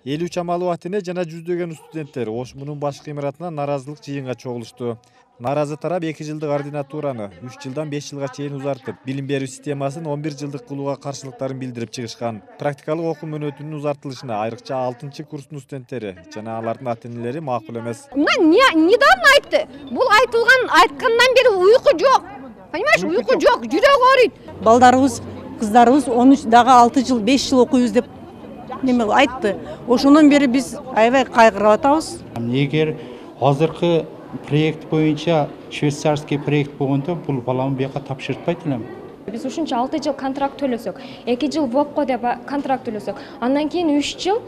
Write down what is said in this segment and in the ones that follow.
50 чамалуу ата-эне жана жүздөгөн студенттер ОШМУнун башкы имаратына наразылык жыйынга чогулушту. Наразы тарап 2 жылдык ординатураны 3 жылдан 5 жылга чейин узартып, билим берүү системасын 11 жылдык кылууга каршылыктарын билдирип чыгышкан. Практикалык окуу мөөнөтүнүн узартылышына айрыкча 6-курстун студенттери жана алардын ата-энелери макул эмес. Недавно айтты. Бул айткандан бери уйку жок. Понимаешь, уйку жок, жүрөк ооруйт. Балдарыбыз, кыздарыбыз 13 дагы 6 жыл, 5 жыл окуйбуз деп неме айтты. Ошондон бери биз аябай кайгырып атабыз. Эгер азыркы проект боюнча швейцарский проект болгондо бул баланы бияка тапшыртпайт элем. Биз ушунча 6 жыл контракт төлөсөк, 2 жыл ВОПко деп контракт төлөсөк, андан кийин 3 жыл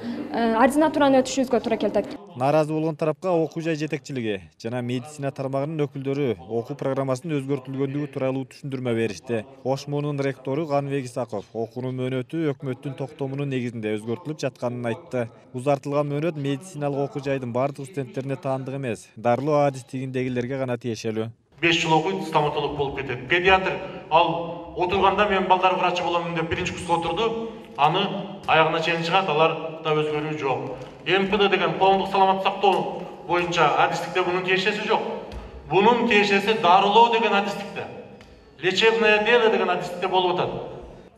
ординатураны өтүшүбүзгө туура келет. Наразы болгон тарапка окуу жай жетекчилиги жана медицина тармагынын өкүлдөрү окуу программасынын өзгөртүлгөндүгү тууралуу түшүндүрмө беришти. ОШМУнун ректору Каныбек Исаков окуунун мөөнөтү өкмөттүн токтомунун негизинде өзгөртүлүп жатканын айтты. Узартылган мөөнөт медициналык окуу жайдын бардык студенттерине таандык эмес, дарылоо адистигиндегилерге гана тиешелүү. 5 жыл окуйт, стоматолог болуп кетет. Педиатр ал отурганда мен балдар врачы боламын деп 1-курска отурду, аны аягына чейин чыгат, алар да өзгөрүү жок. МПД деген коомдук саламаттык сактоо боюнча адистикте бунун тиешеси жок. Бунун тиешеси дарылоо деген адистикте. Лечебное дело деген адистикте болуп атат.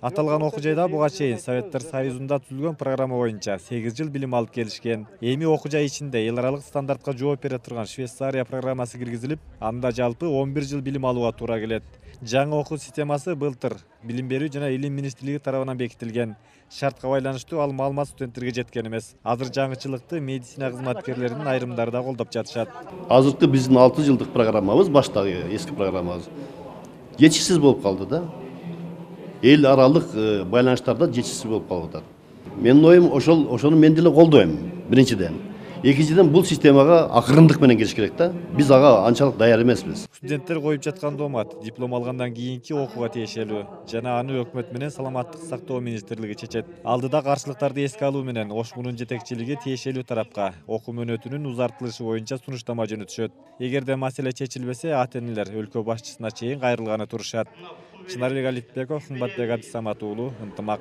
Аталган окуу жайда буга чейин Советтер Союзунда түзүлгөн программа боюнча 8 жыл билим алып келишкен. Эми окуу жай ичинде эл аралык стандартка жооп бере турган Швейцария программасы киргизилип, анда жалпы 11 жыл билим алууга туура келет. Жаңы окуу системасы былтыр Билим берүү жана Илим министрлиги тарабынан бекитилген. Шартка байланыштуу ал маалымат студенттерге жеткен эмес. Азыр жаңычылыкты медицина кызматкерлеринин айрымдары да колдоп жатышат. Азыркы биздин 6 жылдык программабыз, баштагы эски программабыз жетишсиз болуп калды да. Эл аралык байланыштарда жетишсиз болуп калып атат. Менин оюм ошону мен деле колдойм, биринчиден. Экинчиден бул системага акырындык менен келиш керек да. Биз ага анчалык даяр эмеспиз. Студенттер коюп жаткан доомат диплом алгандан кийинки окууга тиешелүү жана аны өкмөт менен саламаттык сактоо министрлиги чечет. Алдыда каршылыктарды эске алуу менен ОШМУнун жетекчилиги тиешелүү тарапка окуу мөөнөтүнүн узартылышы боюнча сунуштама жөнөтүшөт. Эгерде маселе чечилбесе, ата-энелер өлкө башчысына чейин кайрылганы турушат. Чынарбек Алипбеков, Кымбатбек Абдисамат уулу, Ынтымак.